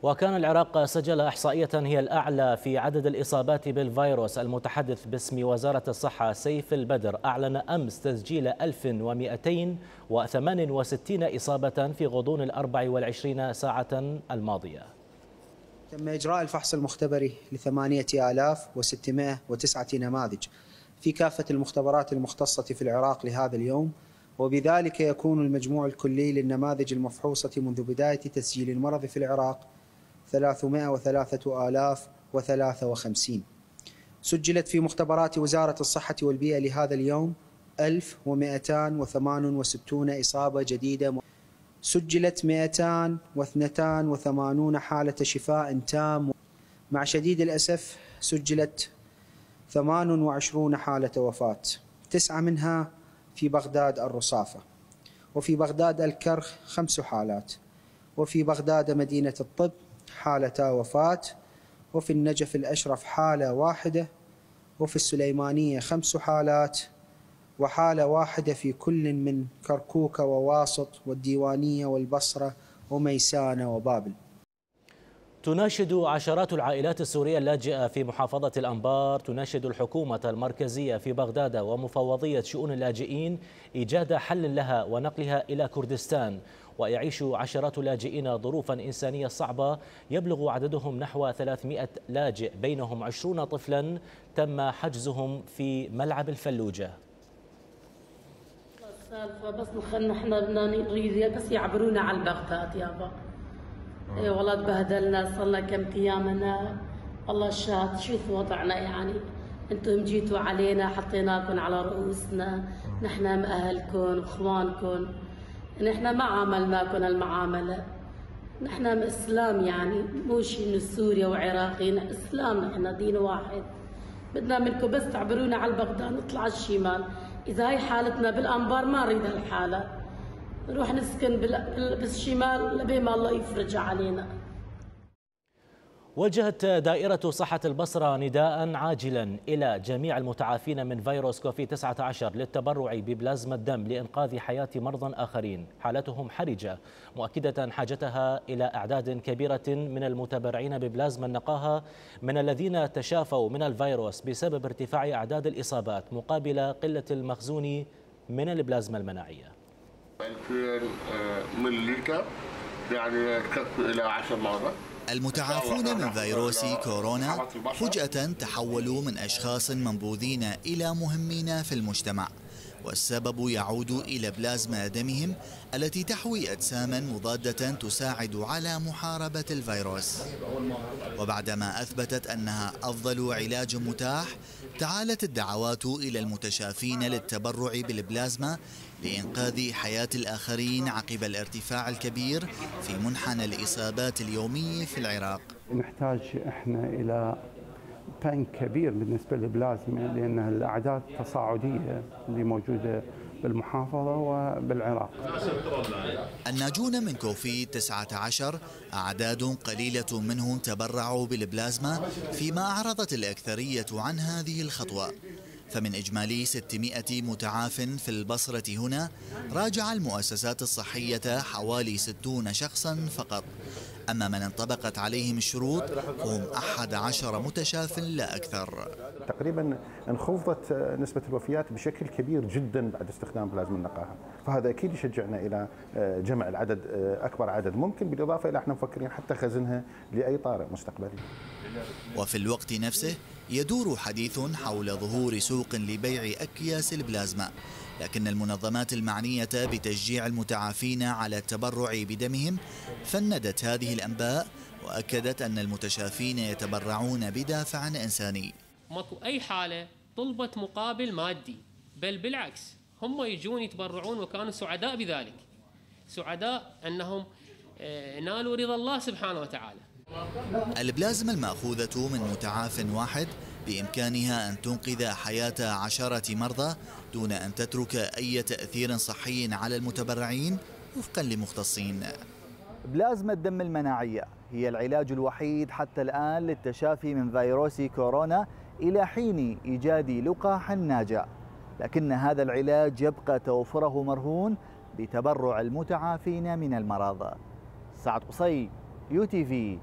وكان العراق سجل إحصائية هي الأعلى في عدد الإصابات بالفيروس. المتحدث باسم وزارة الصحة سيف البدر أعلن أمس تسجيل ألف ومئتين وثمان وستين إصابة في غضون الأربع والعشرين ساعة الماضية. تم إجراء الفحص المختبري لثمانية آلاف وستمائة وتسعة نماذج في كافة المختبرات المختصة في العراق لهذا اليوم، وبذلك يكون المجموع الكلي للنماذج المفحوصة منذ بداية تسجيل المرض في العراق ثلاثمائة وثلاثة آلاف وثلاثة وخمسين. سجلت في مختبرات وزارة الصحة والبيئة لهذا اليوم ألف ومئتين وثمان وستين إصابة جديدة. سجلت مئتين واثنين وثمانين حالة شفاء تام. مع شديد الأسف سجلت ثمان وعشرين حالة وفاة، تسعة منها في بغداد الرصافة، وفي بغداد الكرخ خمس حالات، وفي بغداد مدينة الطب حالتا وفاة، وفي النجف الأشرف حالة واحدة، وفي السليمانية خمس حالات، وحالة واحدة في كل من كركوك وواسط والديوانية والبصرة وميسانة وبابل. تناشد عشرات العائلات السورية اللاجئة في محافظة الأنبار تناشد الحكومة المركزية في بغداد ومفوضية شؤون اللاجئين إيجاد حل لها ونقلها إلى كردستان. ويعيش عشرات اللاجئين ظروفا إنسانية صعبة، يبلغ عددهم نحو ثلاثمئة لاجئ بينهم عشرين طفلا تم حجزهم في ملعب الفلوجة. بس نحن بدنا نريد بس يعبرونا على بغداد يابا. اي والله تبهدلنا، صرنا كم ايامنا والله الشات شوف وضعنا، يعني انتم جيتوا علينا حطيناكم على رؤوسنا، نحن مأهلكم اخوانكم، نحن ما عاملناكم المعامله، نحن اسلام يعني مو شيء من سوريا وعراقيين، اسلام نحن دين واحد، بدنا منكم بس تعبرونا على بغداد نطلع على الشمال، اذا هي حالتنا بالانبار ما نريد هالحاله، نروح نسكن بالشمال لبين ما الله يفرج علينا. وجهت دائرة صحة البصرة نداء عاجلا إلى جميع المتعافين من فيروس كوفيد تسعة عشر للتبرع ببلازما الدم لإنقاذ حياة مرضى آخرين حالتهم حرجة، مؤكدة حاجتها إلى أعداد كبيرة من المتبرعين ببلازما النقاهة من الذين تشافوا من الفيروس بسبب ارتفاع أعداد الإصابات مقابل قلة المخزون من البلازما المناعية. ألفين مللتر يعني تكفي إلى عشر مرات. المتعافون من فيروس كورونا فجأة تحولوا من أشخاص منبوذين إلى مهمين في المجتمع، والسبب يعود إلى بلازما دمهم التي تحوي أجساما مضادة تساعد على محاربة الفيروس. وبعدما أثبتت أنها أفضل علاج متاح، تعالت الدعوات إلى المتشافين للتبرع بالبلازما لإنقاذ حياة الآخرين عقب الارتفاع الكبير في منحنى الإصابات اليومي في العراق. نحتاج احنا إلى بنك كبير بالنسبة للبلازما، لأن الأعداد تصاعدية اللي موجودة بالمحافظة وبالعراق. الناجون من كوفيد تسعة عشر أعداد قليلة منهم تبرعوا بالبلازما، فيما أعرضت الأكثرية عن هذه الخطوة. فمن إجمالي ستمائة متعاف في البصرة هنا، راجع المؤسسات الصحية حوالي ستين شخصا فقط، أما من انطبقت عليهم الشروط فهم أحد عشر متشاف لا أكثر. تقريبا انخفضت نسبة الوفيات بشكل كبير جدا بعد استخدام بلازما النقاهة، فهذا أكيد يشجعنا إلى جمع العدد أكبر عدد ممكن، بالإضافة إلى احنا مفكرين حتى خزنها لأي طارئ مستقبلي. وفي الوقت نفسه يدور حديث حول ظهور سوق لبيع أكياس البلازما، لكن المنظمات المعنية بتشجيع المتعافين على التبرع بدمهم فندت هذه الأنباء، وأكدت أن المتشافين يتبرعون بدافع إنساني. ماكو أي حالة طلبت مقابل مادي، بل بالعكس هم يجون يتبرعون وكانوا سعداء بذلك، سعداء أنهم نالوا رضا الله سبحانه وتعالى. البلازما المأخوذة من متعاف واحد بإمكانها أن تنقذ حياة عشرة مرضى دون أن تترك أي تأثير صحي على المتبرعين وفقا لمختصين. بلازما الدم المناعية هي العلاج الوحيد حتى الآن للتشافي من فيروس كورونا إلى حين إيجاد لقاح ناجع، لكن هذا العلاج يبقى توفره مرهون بتبرع المتعافين من المرض. سعد قصي، يو تي في،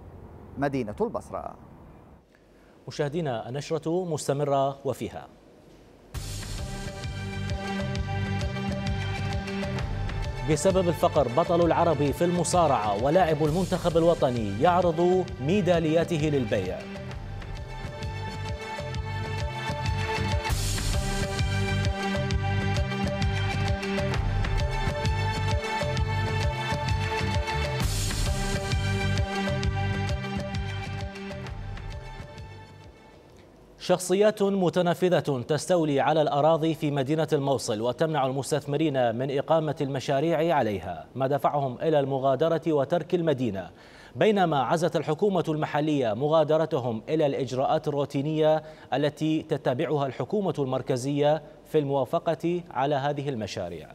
مدينة البصرة. مشاهدينا النشرة مستمرة وفيها بسبب الفقر بطل العربي في المصارعة ولاعب المنتخب الوطني يعرض ميدالياته للبيع. شخصيات متنفذة تستولي على الأراضي في مدينة الموصل وتمنع المستثمرين من إقامة المشاريع عليها، ما دفعهم إلى المغادرة وترك المدينة، بينما عزت الحكومة المحلية مغادرتهم إلى الإجراءات الروتينية التي تتبعها الحكومة المركزية في الموافقة على هذه المشاريع.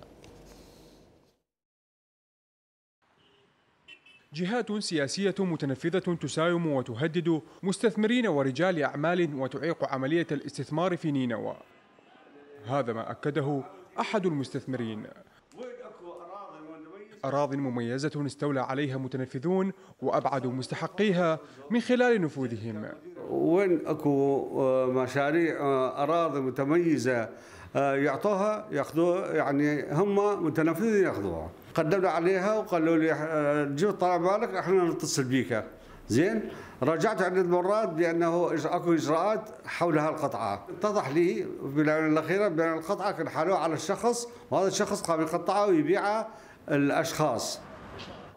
جهات سياسية متنفذة تساوم وتهدد مستثمرين ورجال أعمال وتعيق عملية الاستثمار في نينوى. هذا ما أكده أحد المستثمرين. أراضٍ مميزة استولى عليها متنفذون وأبعدوا مستحقيها من خلال نفوذهم. وين أكو مشاريع أراضي متميزة يعطوها ياخذوها، يعني هم متنفذين ياخذوها. قدمنا عليها وقالوا لي جيب طلع بالك احنا نتصل بيك. زين، رجعت عدة مرات بانه اكو اجراءات حول هالقطعه، اتضح لي في الاونه الاخيره بان القطعه كان حالوها على الشخص وهذا الشخص قام يقطعها ويبيعها الاشخاص.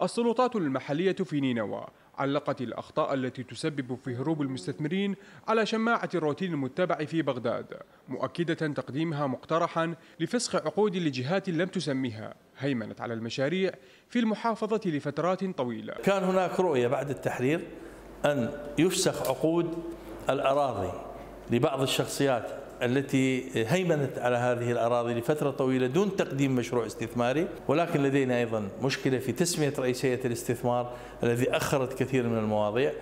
السلطات المحليه في نينوى علقت الأخطاء التي تسبب في هروب المستثمرين على شماعة الروتين المتبع في بغداد، مؤكدة تقديمها مقترحا لفسخ عقود لجهات لم تسميها هيمنت على المشاريع في المحافظة لفترات طويلة. كان هناك رؤية بعد التحرير أن يفسخ عقود الأراضي لبعض الشخصيات التي هيمنت على هذه الأراضي لفترة طويلة دون تقديم مشروع استثماري، ولكن لدينا أيضا مشكلة في تسمية رئيسية الاستثمار الذي أخرت كثير من المواضيع.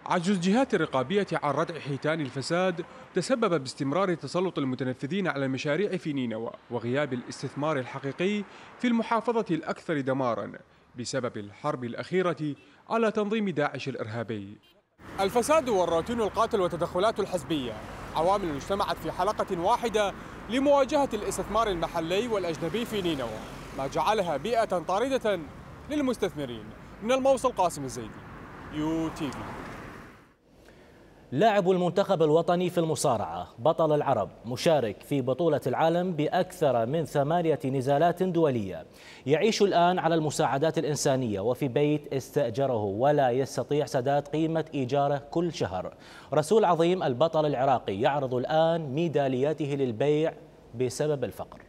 عجز الجهات الرقابية عن ردع حيتان الفساد تسبب باستمرار تسلط المتنفذين على المشاريع في نينوى وغياب الاستثمار الحقيقي في المحافظة الأكثر دمارا بسبب الحرب الأخيرة على تنظيم داعش الإرهابي. الفساد والروتين القاتل والتدخلات الحزبية عوامل اجتمعت في حلقة واحدة لمواجهة الاستثمار المحلي والأجنبي في نينوى، ما جعلها بيئة طاردة للمستثمرين. من الموصل قاسم الزيدي، يو تي في. لاعب المنتخب الوطني في المصارعة بطل العرب مشارك في بطولة العالم بأكثر من ثمانية نزالات دولية، يعيش الآن على المساعدات الإنسانية وفي بيت استأجره ولا يستطيع سداد قيمة إيجاره كل شهر. رسول عظيم البطل العراقي يعرض الآن ميدالياته للبيع بسبب الفقر.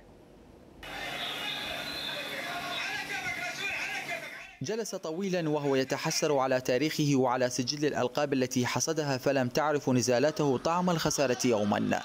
جلس طويلا وهو يتحسر على تاريخه وعلى سجل الألقاب التي حصدها، فلم تعرف نزالاته طعم الخسارة يوما.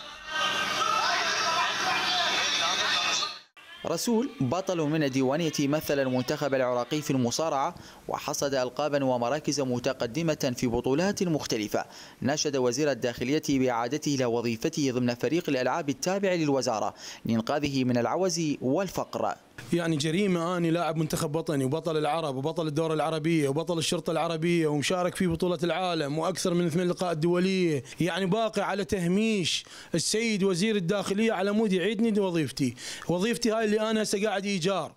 رسول بطل من الديوانية مثل المنتخب العراقي في المصارعة وحصد ألقابا ومراكز متقدمة في بطولات مختلفة. ناشد وزير الداخلية بإعادته إلى وظيفته ضمن فريق الألعاب التابع للوزارة لإنقاذه من العوز والفقر. يعني جريمة أني لاعب منتخب وطني وبطل العرب وبطل الدورة العربية وبطل الشرطة العربية ومشارك في بطولة العالم وأكثر من ثمان لقاءات دولية، يعني باقي على تهميش السيد وزير الداخلية على مود يعيدني وظيفتي. وظيفتي هاي اللي أنا هسه قاعد إيجار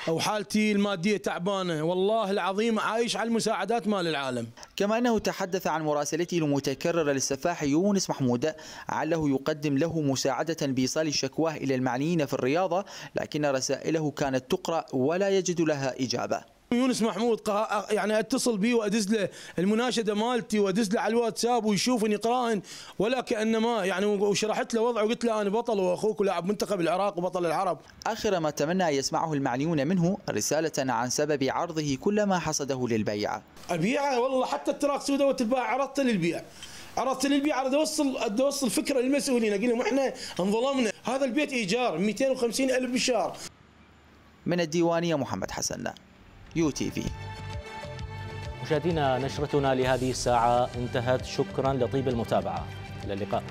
أو حالتي المادية تعبانة، والله العظيم عايش على المساعدات مال العالم. كما أنه تحدث عن مراسلته المتكررة للسفاح يونس محمود عله يقدم له مساعدة بإيصال شكواه إلى المعنيين في الرياضة، لكن رسائله كانت تقرأ ولا يجد لها إجابة. يونس محمود يعني اتصل بي وادز له المناشده مالتي وادز له على الواتساب ويشوفني يقراهن ولا كانما يعني، وشرحت له وضعه وقلت له انا بطل واخوك ولاعب منتخب العراق وبطل العرب. اخر ما تمنى ان يسمعه المعنيون منه رساله عن سبب عرضه كل ما حصده للبيع. ابيعه والله، حتى التراك سودا وتتباع عرضت للبيع، عرضت للبيع، اريد اوصل اريد اوصل فكره للمسؤولين، اقول لهم احنا انظلمنا، هذا البيت ايجار مئتين وخمسين الف بالشهر. من الديوانيه محمد حسن، يو تي في. مشاهدينا، نشرتنا لهذه الساعة انتهت، شكرا لطيب المتابعة، إلى اللقاء.